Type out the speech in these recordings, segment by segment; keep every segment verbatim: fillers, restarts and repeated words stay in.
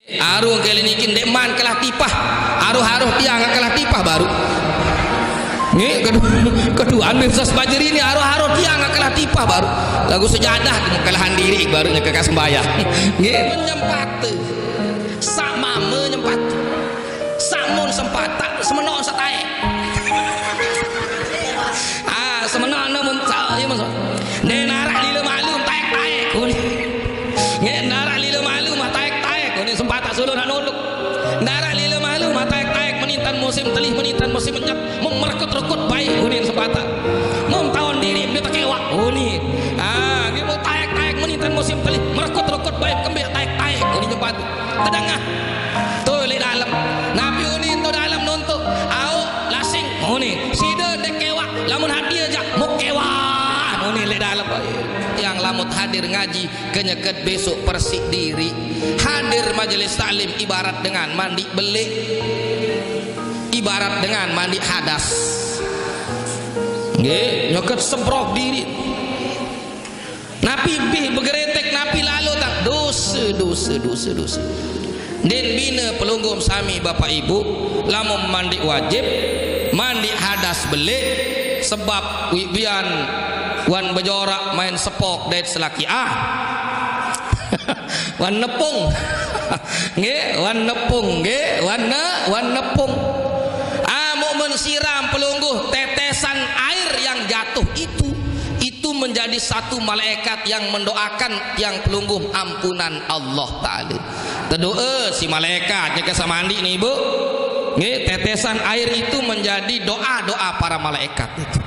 Aruh kali niki ndeqman kelah tipah. Aruh-aruh tiang kelah tipah baruq. Nggih, kedu-, keduan Mirsas Bajri ni aruh-aruh tiang kelah tipah baruq. Laguq sejadah kelahan diriq baruq nyeke ka sembahyang. Nggih. Nyempate. Saq mame nyempate. Saq mun sempataq semenoq setaeq. Ah, semenoq ne mun sa-, iya, mun sa-, ndeq naraq lile malu taeq-taeq. Nggih, naraq lile malu mah taeq-taeq. Nggih, sempataq solo naq nuluk. Ndaraq lile malu mah taeq-taeq, menintan musim telih, menintan musim menyet, merekut-rekut bae unin sempataq. Mum taon diriq mbe tekewaq unin. Ah, nggih, mum taeq-taeq menintan musim telih, merekut-rekut bae kembe taeq-taeq unin sempataq. Tedengah. To leq dalem. Napi unin to dalem nontok? Aoq, lasing unin. Side ndeq kewaq, lamun hadir jaq muk kewaq unin leq dalem. Tiang lamun hadir ngaji, kenyeket besok persiq diriq. Hadir majelis taklim ibarat dengan mandiq beleq. Ibarat dengan mandiq hadas. Nggih, nyeket semprok diriq. Napi bih begeretek, napi lalo tang? Dose, dose, dose, dose, dose. Ndeqn bine pelungguh sami, Bapak Ibu, lamun mandiq wajib, mandiq hadas beleq, sebab wiq bian wan bejoraq main sepok dait selakiah. Wan nepung. Nggih, wan nepung, nggih, wan ne-, wan nepung. Ah, muk men siram pelungguh, tetesan air yang jatuh itu, itu menjadi satu malaikat yang mendoakan tiang pelungguh ampunan Allah Ta'ala. Tedoe si malaikat nyeke saq mandiq ni, Bu. Nggih, tetesan air itu menjadi doa-doa para malaikat itu.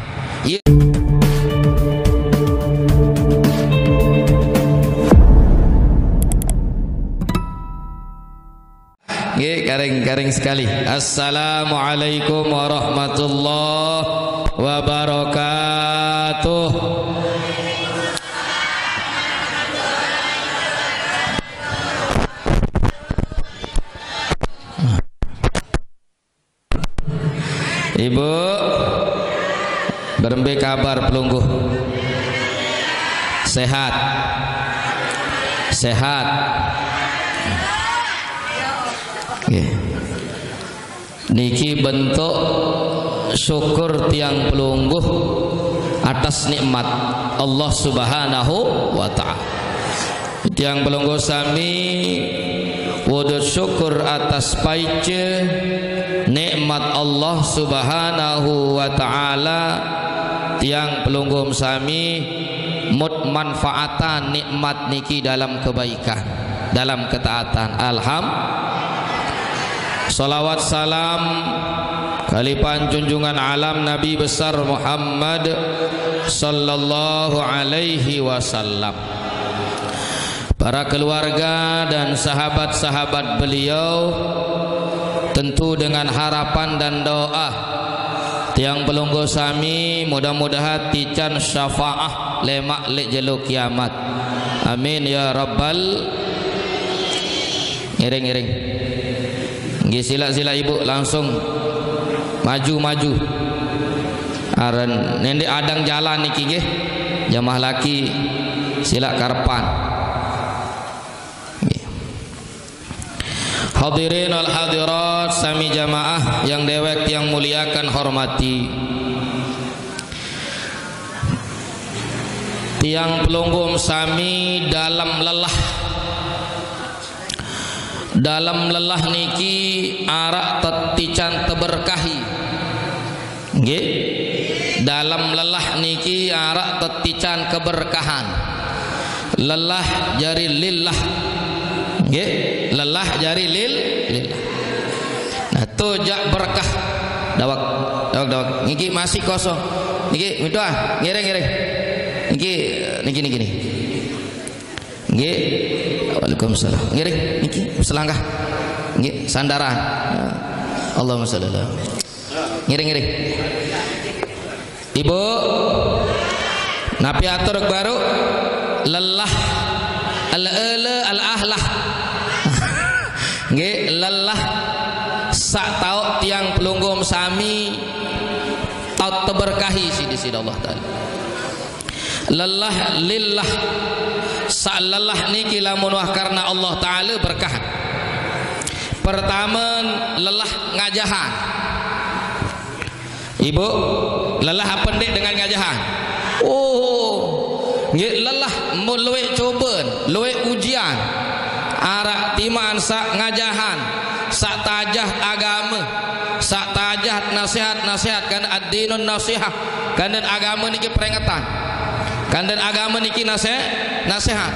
Ye- Nggih, karing-karing sekali. Assalamualaikum warahmatullahi wabarakatuh. Ibu, berembe kabar pelungguh? Sehat? Sehat? Nggih. Niki bentuk syukur tiang pelungguh atas nikmat Allah Subhanahu wa Ta'ala. Tiang pelungguh sami wujud syukur atas paice nikmat Allah Subhanahu wa Ta'ala. Tiang pelungguh sami mut manfaatan nikmat niki dalam kebaikan, dalam ketaatan. Alham-, salawat salam kalipan junjungan alam Nabi besar Muhammad sallallahu alaihi wasallam. Para keluarga dan sahabat-sahabat beliau, tentu dengan harapan dan doa, tiang pelungguh sami mudah-mudahan tican syafaah lemaq leq jelo kiamat. Amin ya rabbal. Ngiring, ngiring. Nggih, silaq, silaq Ibu langsung maju, maju. Aren ndeq adang jalan niki nggih. Jamaah laki silaq karepan. Nggih. Hadirin wal hadirat sami jamaah yang dewek tiang muliakan hormati. Tiang pelungguh sami dalem lelah. Dalem lelah niki araq tetican teberkahi. Nggih. Dalem lelah niki araq tetican keberkahan. Lelah jari lillah. Nggih. Lelah jari lil-, lillah. Nah, to jaq berkah. Dawek, dawek, dawek. Niki masih kosong. Niki, mitu ah, ngiring, ngiring. Niki, niki, niki, niki. Nggih. Waalaikumsalam. Ngiring niki selangkah. Nggih, sandaran. Allahumma sholli ala. Ngiring, ngiring. Ibu, napi atur baru? Lelah. Al-, ele, al-ahlah. Nggih, lelah saq taoq tiang pelungguh sami taoq teberkahi siq Deside Allah Taala. Lelah lillah. Saq lelah niki lamun wah karena Allah Taala berkah. Pertama, lelah ngajahan. Ibu, lelah apa ndeq dengan ngajahan? Oh, nggih, lelah, mun lueq coben, lueq ujian. Araq timaq saq ngajahan, saq tajah agame, saq tajah nasehat-nasehat, kan ad-dinun nasihah, kan agame niki perengetan. Kanden agame niki nase-, nasehat.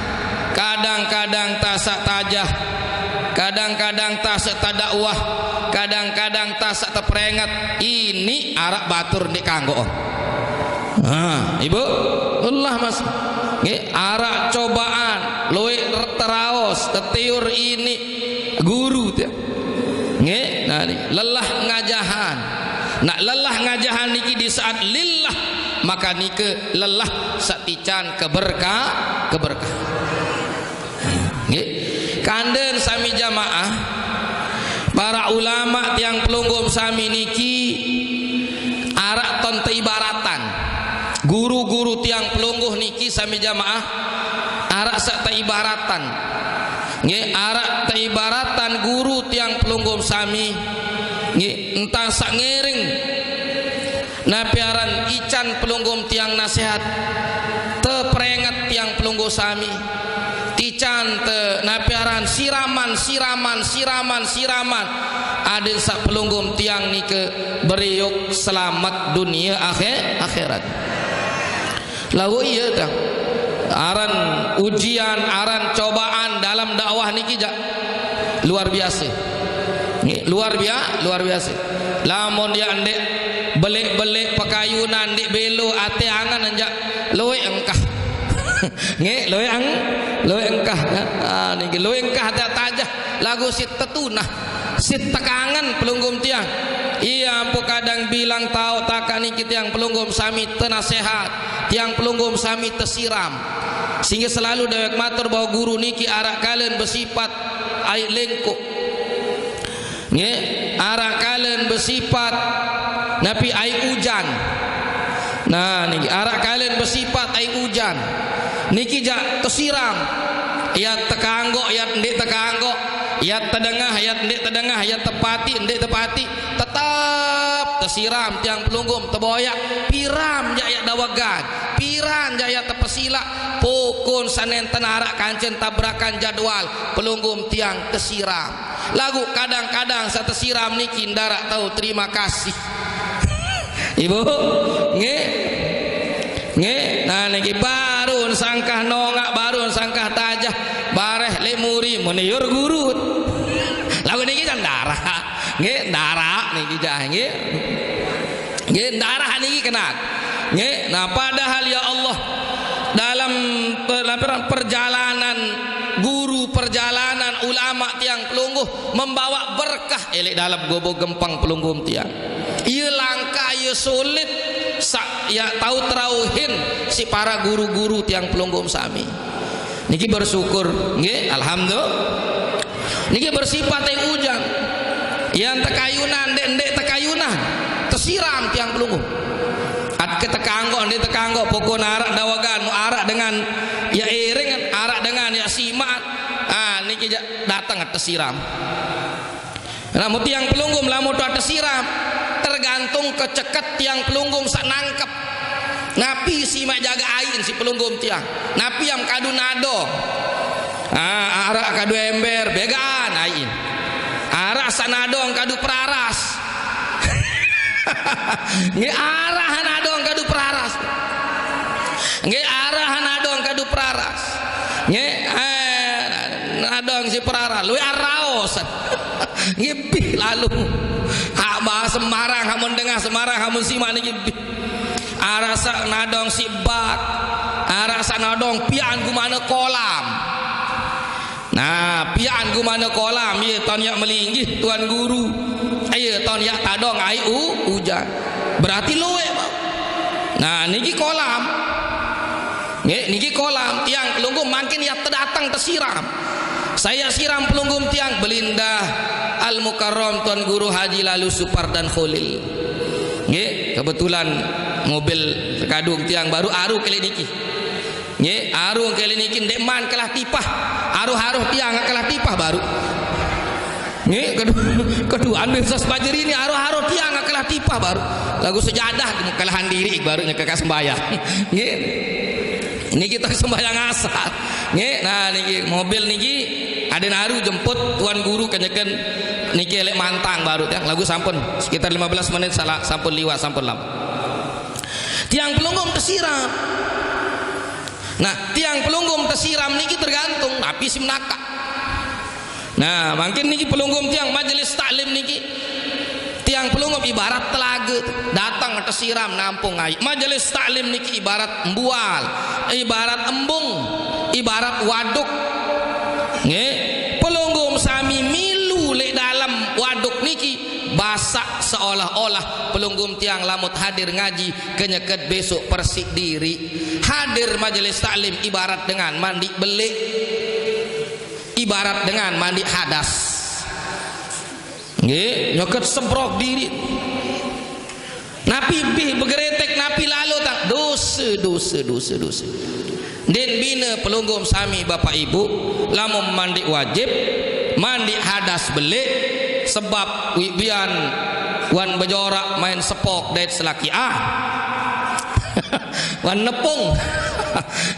Kadang-kadang tasaq tajah, kadang-kadang tasaq tadakwah, kadang-kadang tasaq teprenget. Ini araq batur ndeq kanggo. Nah, Ibu, Allah, Mas. Nggih, araq cobaan, lueq teraos, tetiur ini guru tiang. Nggih, nah, niki lelah ngajahan. Nah, lelah ngajahan niki di saat lillah, maka nike lelah saq tican keberka-, keberkahan. Nggih. Kanden sami jamaah, para ulama tiang pelungguh sami niki araq ton teibaratan. Guru-guru tiang pelungguh niki sami jamaah araq saq teibaratan. Nggih, araq teibaratan guru tiang pelungguh sami. Nggih, entan saq ngiring napi aran ican pelungguh tiang nasehat. Teprenget tiang pelungguh sami. Tican te napi aran siraman, siraman, siraman, siraman. Adeq saq pelungguh tiang nike beriuk selamet dunie akhe-, akhirat. Laguq iye, tiang. Aran ujian, aran cobaan dalem dakwah niki jaq luar biase. Nggih, luar bia-, luar biase. Lamun yaq ndeq beleq-beleq pekayunan, ndeq belo ate angen, jaq lueq engkah. Nggih, lueq eng-, lueq engkah. Ah, niki lueq engkah ate tajah. Laguq siq tetunah. Siq tekangen pelungguh tiang. Iya, ampoq kadang bilang taoq takaq niki tiang pelungguh sami tenasehat, tiang pelungguh sami tesiram. Sehingge selalu dewek matur bahwa guru niki araq kalen besipat aiq lengkoq. Nggih, araq kalen besipat napi aiq ujan. Nah, niki araq kalen besipat aiq ujan. Niki jaq tesiram. Yat tekanggoq, yat ndeq tekanggoq, yat tedengah, yat ndeq tedengah, yat tepati, ndeq tepati, tetep tesiram tiang pelungguh teboyaq. Piran jaq yaq dawegan, piran jaq yaq tepesilaq, pokon sanenten araq kancen tabrakan jadwal, pelungguh tiang tesiram. Laguq kadang-kadang saq tesiram niki ndaraq tao terima kasih. Ibu, nggih. Nggih, nah niki baruq sangkah nongaq, baruq sangkah tajah, bareh leq muri, meniur guru. Laguq niki jaq ndaraq. Nggih, ndaraq niki jaq, nggih. Nggih, ndaraq niki kenaq. Nggih, nah padahal ya Allah, dalem pe-, lapiran perjalanan guru, perjalanan ulama tiang pelungguh membawa berkah eleq dalem gobo gempeng pelungguh tiang. Iye langkah, iye sulit, saq yaq tao terauhin siq para guru-guru tiang pelungguh sami. Niki bersyukur, nggih, alhamdulillah. Niki bersifat yang ujang. Yang tekayunan, ndeq, ndeq tekayunan, tesiram tiang pelungguh. Atke tekanggoq, ndeq tekanggoq, pokon araq dawegan, mu araq dengan ya iring, araq dengan ya simaq. Ah, niki jaq dateng tesiram. Nah, mun tiang pelungguh lamun tuah tesiram, tergantung keceket tiang pelungguh saq nangkep. Napi simaq jagaq aiqn siq pelungguh tiang? Napi am kadu nadong? Ah, araq kadu ember, begaan aiqn. Araq saq nadong kadu peraras. Nggih, araq nadong kadu peraras. Nggih, araq nadong kadu peraras. Nggih, eh, nadong siq peraras. Lueq araos. Nggih, bih lalu. Hak bahas Semarang, hamun dengah Semarang, hamun simaq niki bih. Araq saq nadong siq bak, araq saq nadong pian gumane kolam. Nah, pian gumane kolam, iye, ton yaq melinggih Tuan Guru. Iye, ton yaq tadong aiq u-, ujan. Berarti lueq, Bang. Nah, niki kolam. Nggih, niki kolam. Tiang pelungguh mangkin yaq tedateng tesiram. Saya siram pelungguh tiang, Belindah Al Mukarram Tuan Guru Haji Lalu Supardan Kholil. Nggih, kebetulan mobil sekadung tiang baruq aruq keleq niki. Nggih, aruq keleq niki ndeqman kelah tipah. Aruh-aruh tiang kelah tipah baruq. Nggih, kedua, kedua ambil sas bajeri ini aroh-aroh tiang kalah tipah baru. Lagu sejadah kalahan diri baru nyekek sembahyang. Nggih. Ini kita sembahyang asar. Nggih, nah niki mobil niki ada naru jemput tuan guru kenyeken niki elek mantang baru ya. Lagu sampun sekitar lima belas menit salah sampun liwat sampun lama. Tiang pelunggung tersiram. Nah, tiang pelunggung tersiram niki tergantung napi si menaka. Nah, mungkin niki pelunggung tiang majelis taklim niki. Tiang pelunggung ibarat telaga datang tersiram nampung air. Majelis taklim niki ibarat embual, ibarat embung, ibarat waduk. Nggih, pelunggung sami milu lek dalam waduk niki basak seolah-olah pelunggung tiang lamut hadir ngaji kenyeket besok persik diri. Hadir majelis taklim ibarat dengan mandi belik, ibarat dengan mandi hadas. Nggih, nyeket semprok diri. Napi bih begeretek napi lalu tak dosa, dosa, dosa, dosa. Den bina pelunggung sami bapak ibu, lamun mandi wajib, mandi hadas belik, sebab wibian wan bejorak main sepok dait selaki ah. Wan nepung.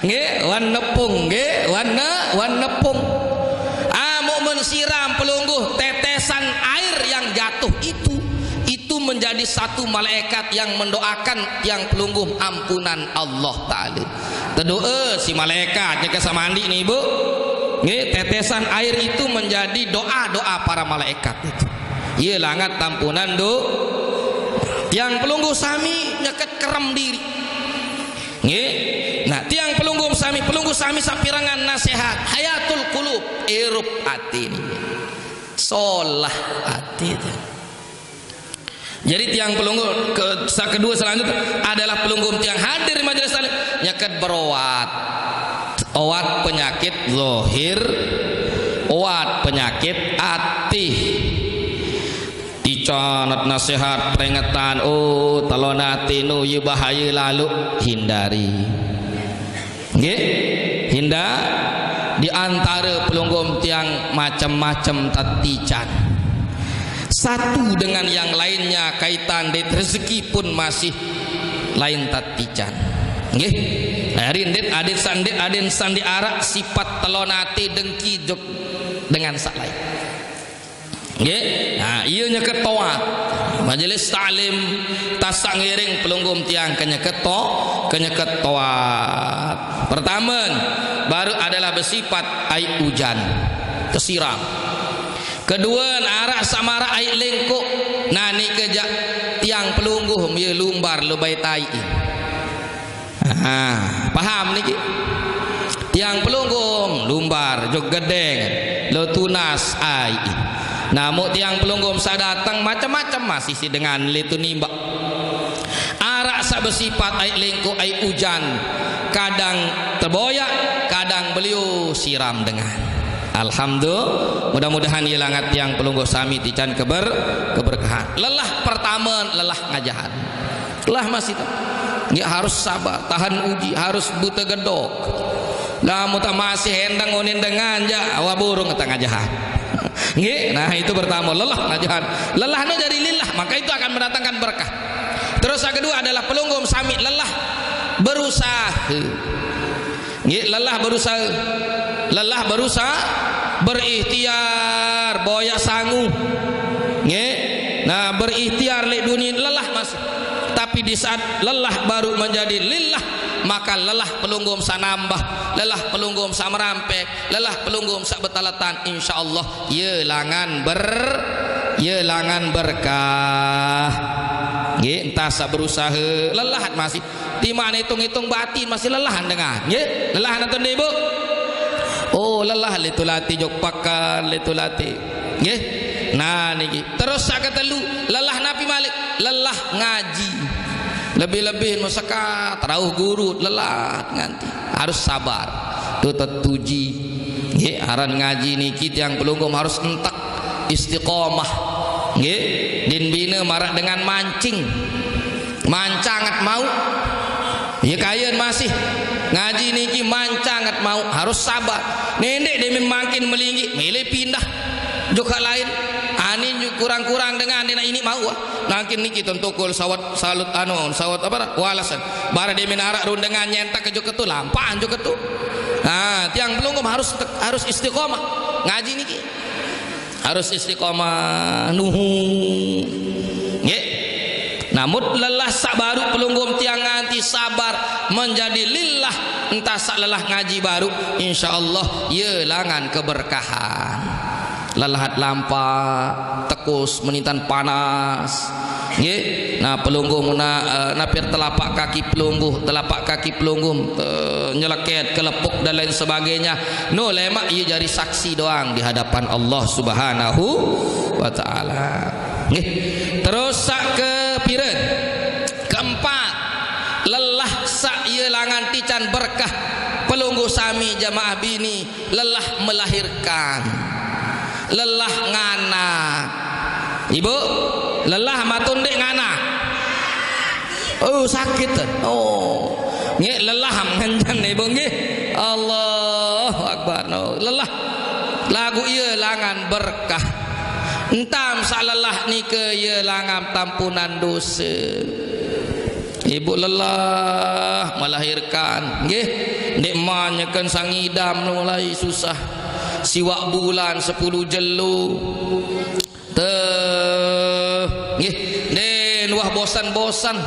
Nggih, wan nepung, nggih, wan ne, wan nepung. Ah, muk mensiram pelungguh tetesan air yang jatuh itu, itu menjadi satu malaikat yang mendoakan tiang pelungguh ampunan Allah Ta'ala. Tedoa si malaikat, nyeka samandi nih ibu. Nggih, tetesan air itu menjadi doa-doa para malaikat itu. Iya langat tampunan do. Tiang pelungguh sami nyeket kerem diri. Nggih. Nah, tiang pelungguh sami, pelungguh sami sapirangan nasihat. Hayatul kulub, irup hati ini. Solah hati itu. Jadi tiang pelungguh ke, kedua selanjutnya adalah pelungguh tiang hadir di majelis taklim nyeket beroat. Oat penyakit zahir, oat penyakit ati. Icanat nasihat peringatan, oh talon ati nu ye bahaya lalu hindari. Nggih, hinda di antara pelungguh tiang macam-macam tatican. Satu dengan yang lainnya kaitan dit rezeki pun masih lain tatican. Nggih. Hari dit adit sandi adin sandi arak sifat telonate dengki juk dengan sak lain. Nggih. Nah, iya nyeket toat. Majelis taklim tasak ngiring pelungguh tiang kenyeket to, kenyeket toat. Pertama, baru adalah bersifat ai ujan. Kesiram. Kedua, arak samara ai lengkok. Nah, ni kejak tiang pelungguh mie lumbar lebai tai. Ah, paham niki? Tiang pelunggung lumbar jog gedeng lo tunas ai. Namu tiang pelunggung sadatang macam-macam masih si dengan litu nimbak. Arak sak bersifat ai lengkok ai ujan, kadang terboyak, kadang beliau siram dengan. Alhamdulillah, mudah-mudahan ia langat tiang pelungguh sami tican keber keberkahan. Lelah pertama lelah ngajahan. Lah masih tak. Nggih harus sabar, tahan uji, harus buta gedok. Lah muta masih endang onin dengan ja, awa burung tengah jahat. Nggih, nah itu pertama lelah ngajahan. Lelah no jadi lillah, maka itu akan mendatangkan berkah. Terus yang kedua adalah pelungguh sami lelah berusaha. Nggih, lelah berusaha. Lelah berusaha, berikhtiar, boyak sangu. Nggih. Nah, berikhtiar lek dunia lelah masih. Tapi di saat lelah baru menjadi lillah, maka lelah pelungguh sanambah, lelah pelungguh sa merampek, lelah pelungguh sa betaletan, insyaallah ye langan ber ye langan berkah. Nggih, entah sa berusaha lelah masih. Timan hitung-hitung batin masih lelah dengan. Nggih, lelah nonton ibu. Oh, lelah litu lati jok pakan litu lati. Nggih. Nah niki. Terus sak ketelu, lelah napi malik? Lelah ngaji. Lebih-lebih nu sekat rauh guru lelah nganti. Harus sabar. Tutet tuji. Nggih, aran ngaji niki tiang pelungguh harus entek istiqomah. Nggih, din bina marak dengan mancing. Mancangat mau. Ya kayen masih ngaji niki mancangat mau harus sabar. Nendek demi makin melinggi, milih pindah. Juga lain. Ani kurang-kurang dengan dia nak ini mau ah. Nangkin niki tentokol sawat salut anu, sawat apa dah? Walasan. Bara dia minara rundengan nyentak ke joketu, lampaan joketu. Nah, tiang pelungguh harus harus istiqomah ngaji niki. Harus istiqomah nuhu. Nggih. Namun lelah sak baru pelungguh tiang nganti sabar menjadi lillah, entah sak lelah ngaji baru, insyaallah ia langan keberkahan. Lelahat lampa, tekus, menintan panas. Nggih. Nah, pelungguh na, eh, napir telapak kaki pelungguh, telapak kaki pelungguh, eh, nyeleket, kelepuk dan lain sebagainya. No lemak ia jadi saksi doang di hadapan Allah Subhanahu wa taala. Nggih. Terus sak ke pira? Keempat, lelah sak ia langan tican berkah pelungguh sami jamaah bini lelah melahirkan, lelah ngana. Ibu, lelah matun dek ngana. Oh, sakit. Oh. Nggih, lelah ngenjan ibu nggih. Allahu Akbar. No, lelah. Lagu ia langan berkah. Entam sak lelah nika ia langan tampunan dosa. Ibu lelah melahirkan, nggih. Ndik manyakan sangidam mulai susah. Siwak bulan sepuluh jelo. Teh, nggih. Den wah bosan-bosan.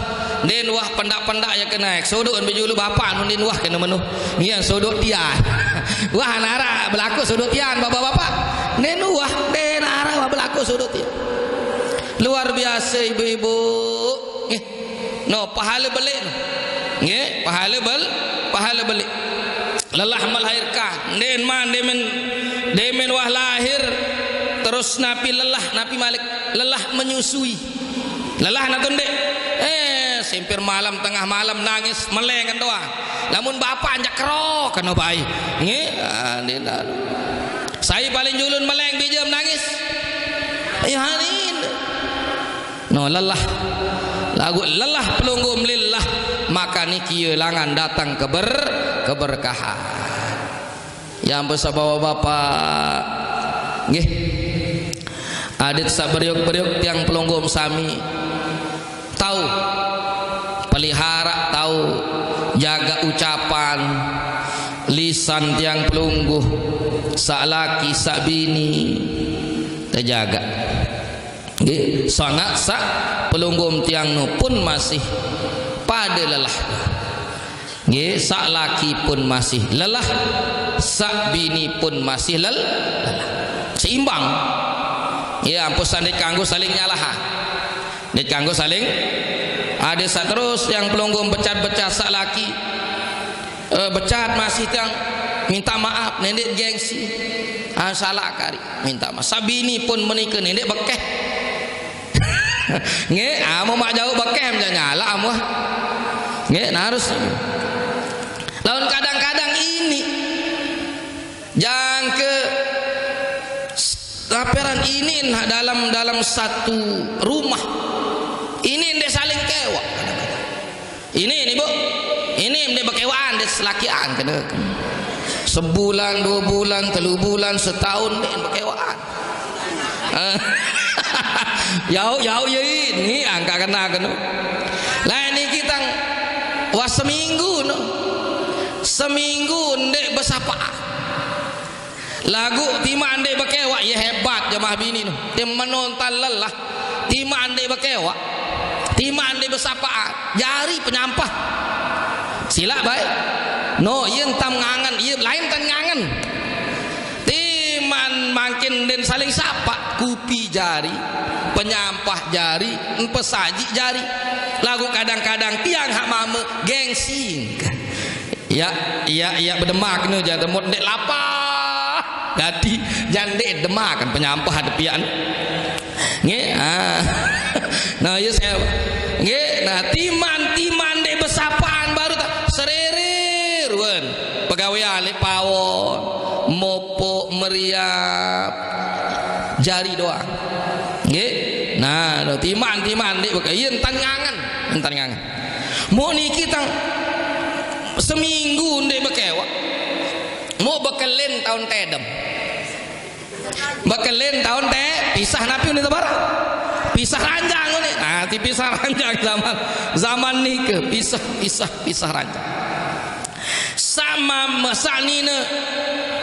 Den wah pendak-pendak ya kena. Sodok ambil julu bapak nun den wah kena menu. Ngian sodok tian. Wah nara berlaku sodok tian bapak-bapak. Den wah den nara wah berlaku sodok tian. Luar biasa ibu-ibu. Nggih. No, pahala belik no. Nggih, pahala bel, pahala belik. Lelah melahirkan. Den man, demen, demen wah lahir. Terus napi lelah, napi malik. Lelah menyusui. Lelah nak tundek. Eh, sempir malam, tengah malam nangis, melengan doang. Lamun bapak anjak kerok, kena bayi. Nggih, ah, den anu. Saya paling julun meleng bijam nangis. Ya, hanin. No, lelah. Lagu lelah pelungguh melillah, maka niki langan datang keber keberkahan. Ya ampun, sabawa bapak. Nggih. Adit saberiuk-beriuk tiang pelungguh sami. Tahu. Pelihara tahu. Jaga ucapan. Lisan tiang pelungguh. Sak laki, sak bini. Terjaga. Nggih, sangat sak pelungguh tiang nu pun masih pada lelah. Nggih, sak laki pun masih lelah, sak bini pun masih lel-, lelah. Seimbang. Ya, ampun sandai kanggo saling nyalahan. Nggih kanggo saling ada sak terus tiang pelungguh becat-becat sak laki. Eh, becat masih tiang minta maaf, nendek gengsi. Ah, salah kari. Minta maaf. Sabini pun menikah nendek bekeh. Nggih, amu mak jauh bekeh macam nyala amu. Nggih, nah harus. Lawan kadang-kadang ini jangke laporan ini nah dalam dalam satu rumah ini ndak saling kewa. Ini ini bu, ini ndak berkewaan, ndak selakian kena. Sebulan, dua bulan, telu bulan, setahun ndak berkewaan. Yau yau ya ini angka kena kena. Lain ni kita wah seminggu no, seminggu ndak bersapaan. Lagu timan dek bekewak, ya hebat jamaah bini tu. Tim menonton lelah. Timan dek bekewak. Timan dek bersapaan. Jari penyampah. Silap baik. No, ia entam ngangen, ia lain tan ngangen. Timan makin den saling sapa, kupi jari, penyampah jari, pesaji jari. Lagu kadang-kadang tiang hak mama gengsi. Ya, ya, ya, berdemak ni jangan temut dek lapar. Jadi jangan dek demak kan penyampah ada pian. Nge, ah. Nah, ya saya. Nge, nah timan-timan dek bersapaan baru tak serere ruan. Pegawai alik pawon, mopok meriap, jari doang. Nge, nah, timan-timan dek beka, iya entan ngangen, entan ngangen. Mau niki tang seminggu ndek bekewak. Mau bekelin tahun tedem. Bekelin taun te pisah napi uni tebara? Pisah ranjang uni. Nah, ti pisah ranjang zaman, zaman nike pisah, pisah, pisah ranjang. Sama, sak nine,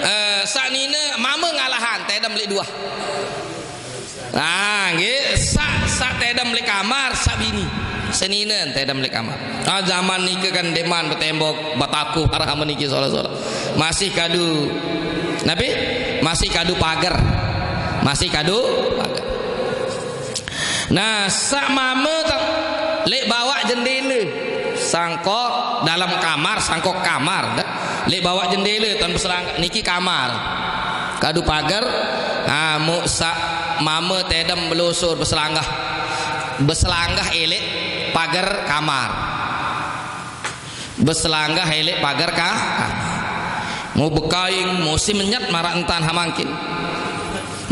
eh, sak nine mama ngalahan tedem lik dua. Nah, nggih, sak, sak tedem lik kamar, sak bini. Seninen tedem lik kamar. Ah, zaman nike kan deman betembok, bataku, arah niki sola-sola. Masih kadu, napi? Masih kadu pagar. Masih kadu pagar. Nah, sak mama tak lek bawa jendela. Sangkok dalam kamar, sangkok kamar dah. Lek bawa jendela tuan beselang niki kamar. Kadu pagar, ah, mu sak mama tedem belusur beselanggah. Beselanggah elek pagar kamar. Beselanggah elek pagar ka. Mu bekaing musim nyat marak entan hamangkin.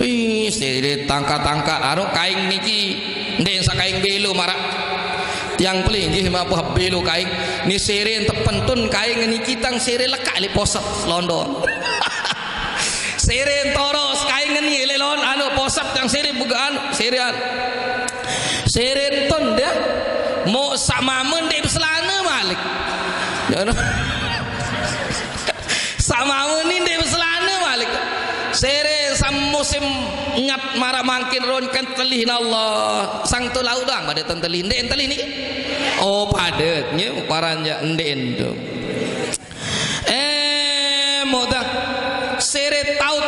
Ih, sere tangka-tangka anu kaing niki. Ndek sa kaing belo marak. Tiang pelinggih mapa belo kaing. Ni sere tepentun kaing niki tang sere lekak li posep londo. Sere toros kaing ni le lon anu posep tang sere bugaan sere anu. Sere ton dia. Mo sak mama ndek beselana malik. Ya no. Sak mama ni ndek beselana malik. Sere sam musim nyat marak mangkin ron kan telih na Allah. Sang tu lau doang pada ten telih. Ndek telih ni. Oh, padet. Nge, paran ja ndek endo. Eh, moda. Sere taut.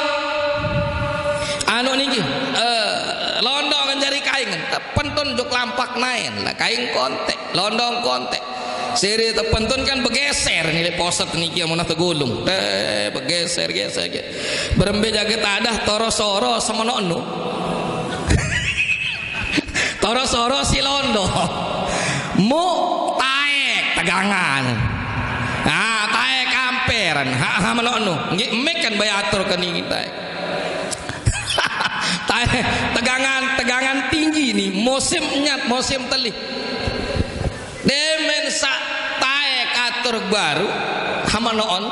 Anu niki. Eh, londong jari kaing. Pentun juk lampak naen. Lah kaing kontek, londong kontek. Sere tepentun kan begeser ni lek poset niki amun tegulung. Eh, begeser, geser, geser. Berembe jaget adah toro soro semenokno. Toro soro si londo. Mu taek tegangan. Ah, taek kamperan. Ha, ha, menokno. Nggih, mik kan bayatur ke niki taek. Taek tegangan, tegangan tinggi ni. Musim nyat, musim telih. Demen sak taek atur baru. Hamanoon.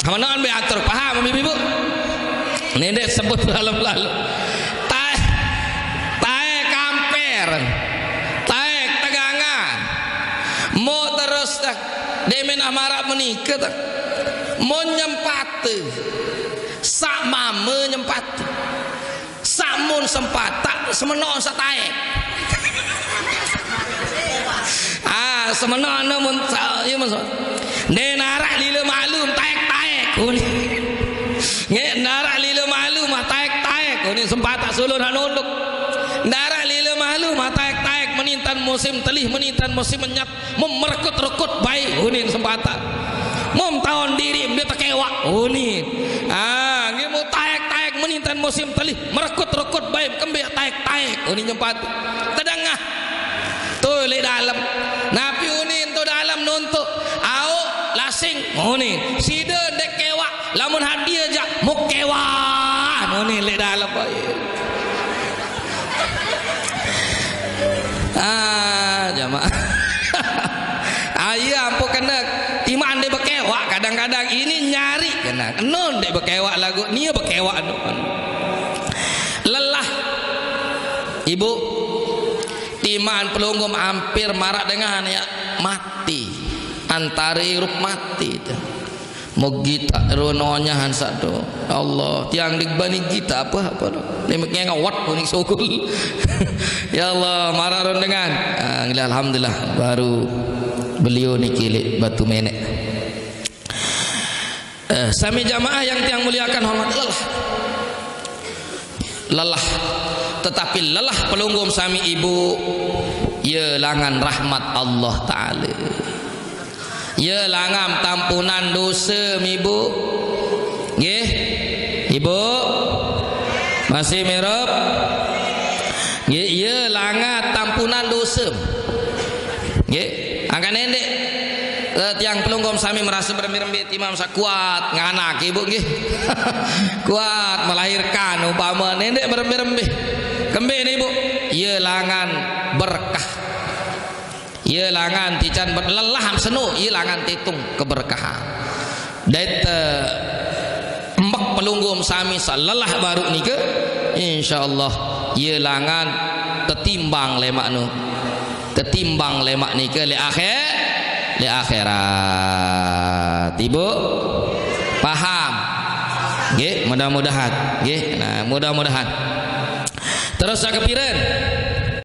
Hamanoon be atur. Paham, Ibu? Nende sebut lalu-lalu. Taek, taek kamper. Taek tegangan. Mau terus dah. Demen amarak menikah dah. Mau nyempate. Sak mama nyempate. Samun sempatak, semenoon sataek. Ah, semenoon mun sa-, iya, mun sa-, nde narak lila malu, taek-taek. Uni. Nge narak lila malu mah taek-taek. Uni sempatak sulun hak nunduk. Narak lila malu mah taek-taek, menintan musim telih, menintan musim menyat. Memerekut-rekut bae unin sempatan. Mum taon diri dia tekewak unin. Ah, nggih mu taek-taek menintan musim telih, merekut-rekut bae kembe taek-taek unin nyempat. Tedengah. Tu lek dalem. Napi unin tu dalem nuntuk. Au lasing unin. Sida ndek kewak. Lamun hadiah jak muk kewak unin lek dalem bae. Ah, jamaah. Ah, iya, ampun kena. Timan dia bekewak kadang-kadang ini nyari kena. Nun dia bekewak lagu, nia bekewak tu. Lelah. Ibu, timan pelunggum hampir marak dengan ya mati. Antara hirup mati tu. Mau gita rononya han satu. Ya Allah, tiang digbani gita apa apa tu. Ni mengengawat kuning sukul. Ya Allah, marah ron dengan. Ah, alhamdulillah baru beliau ni kilik batu menek. Eh, sami jamaah yang tiang muliakan hormat lelah. Lelah. Tetapi lelah pelunggum sami ibu, ya langan rahmat Allah Ta'ala. Ya langan tampunan dosa, Ibu. Nggih. Ibu. Masih mirup? Nggih, ya langan tampunan dosa. Nggih. Angkat nendek. Eh, tiang pelunggum sami merasa berembe-rembe timam sa kuat nganak ibu nggih. Kuat melahirkan umpama nendek berembe-rembe. Kembe ni ibu. Ya langan berkah. Ia langan tican ber-, lelah am seno, ia langan titung keberkahan. Dait, eh, embek Tunggu sami salelah baru nika, insyaallah, ieu langan tetimbang lemak nu. Tetimbang lemak nika le akhir, le akhirat. Ibu paham? Nggih, mudah-mudahan. Nggih, nah, mudah-mudahan. Terus sakepiren?